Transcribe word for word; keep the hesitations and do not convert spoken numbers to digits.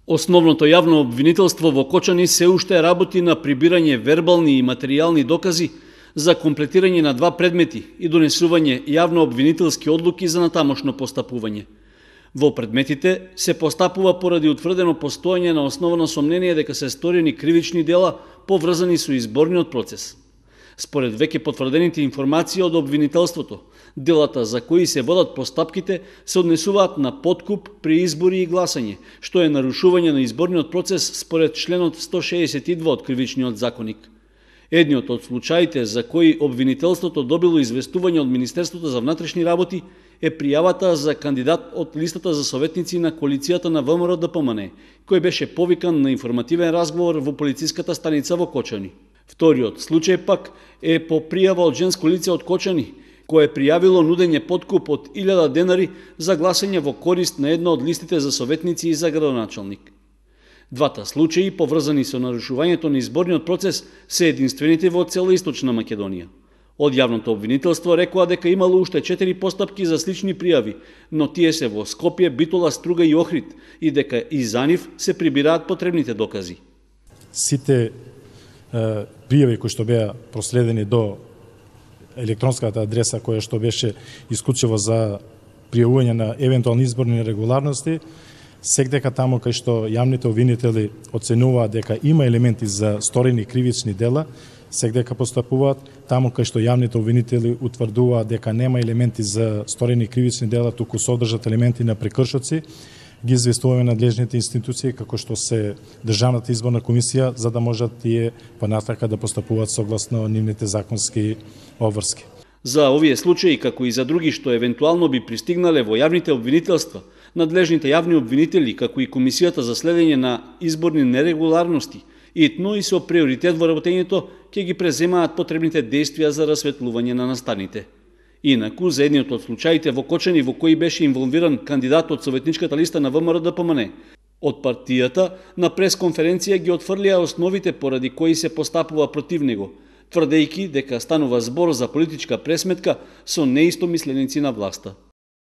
Основното јавно обвинителство во Кочани се уште работи на прибирање вербални и материјални докази за комплетирање на два предмети и донесување јавно обвинителски одлуки за натамошно постапување. Во предметите се постапува поради утврдено постоење на основано сомнение дека се сторени кривични дела поврзани со изборниот процес. Според веќе потврдените информации од обвинителството, делата за кои се водат постапките се однесуваат на подкуп при избори и гласање, што е нарушување на изборниот процес според членот сто шеесет и два од Кривичниот законник. Едниот од случаите за кои обвинителството добило известување од Министерството за внатрешни работи е пријавата за кандидат од листата за советници на коалицијата на ВМРО Д П М Н, кој беше повикан на информативен разговор во полициската станица во Кочани. Вториот случај пак е по пријава од женско лице од Кочани, кое пријавило нудење подкуп од илјада денари за гласање во корист на една од листите за советници и за градоначалник. Двата случаи, поврзани со нарушувањето на изборниот процес, се единствените во цела Источна Македонија. Од јавното обвинителство рекоа дека имало уште четири постапки за слични пријави, но тие се во Скопје, Битола, Струга и Охрид и дека и за нив се прибираат потребните докази. Сите е, пријави кои што беа проследени до електронската адреса која што беше исклучиво за пријавување на евентуални изборни нерегуларности, секдека таму кај што јавните обвинители оценуваат дека има елементи за сторени кривични дела, секдека постапуваат, таму кај што јавните обвинители утврдуваат дека нема елементи за сторени кривични дела, туку содржат елементи на прекршоци, ги известуваме надлежните институции како што се Државната изборна комисија, за да можат тие понатака да постапуваат согласно нивните законски обврски. За овие случаи, како и за други што евентуално би пристигнале во јавните обвинителства, надлежните јавни обвинители, како и Комисијата за следење на изборни нерегуларности, итно и со приоритет во работењето, ќе ги преземаат потребните действија за расветлување на настаните. Инаку, за едниот од случаите во Кочани во кои беше инволвиран кандидат од советничката листа на ВМРО Д П М Н, од партијата на пресконференција ги отфрлија основите поради кои се постапува против него, тврдејќи дека станува збор за политичка пресметка со неистомисленици на власта.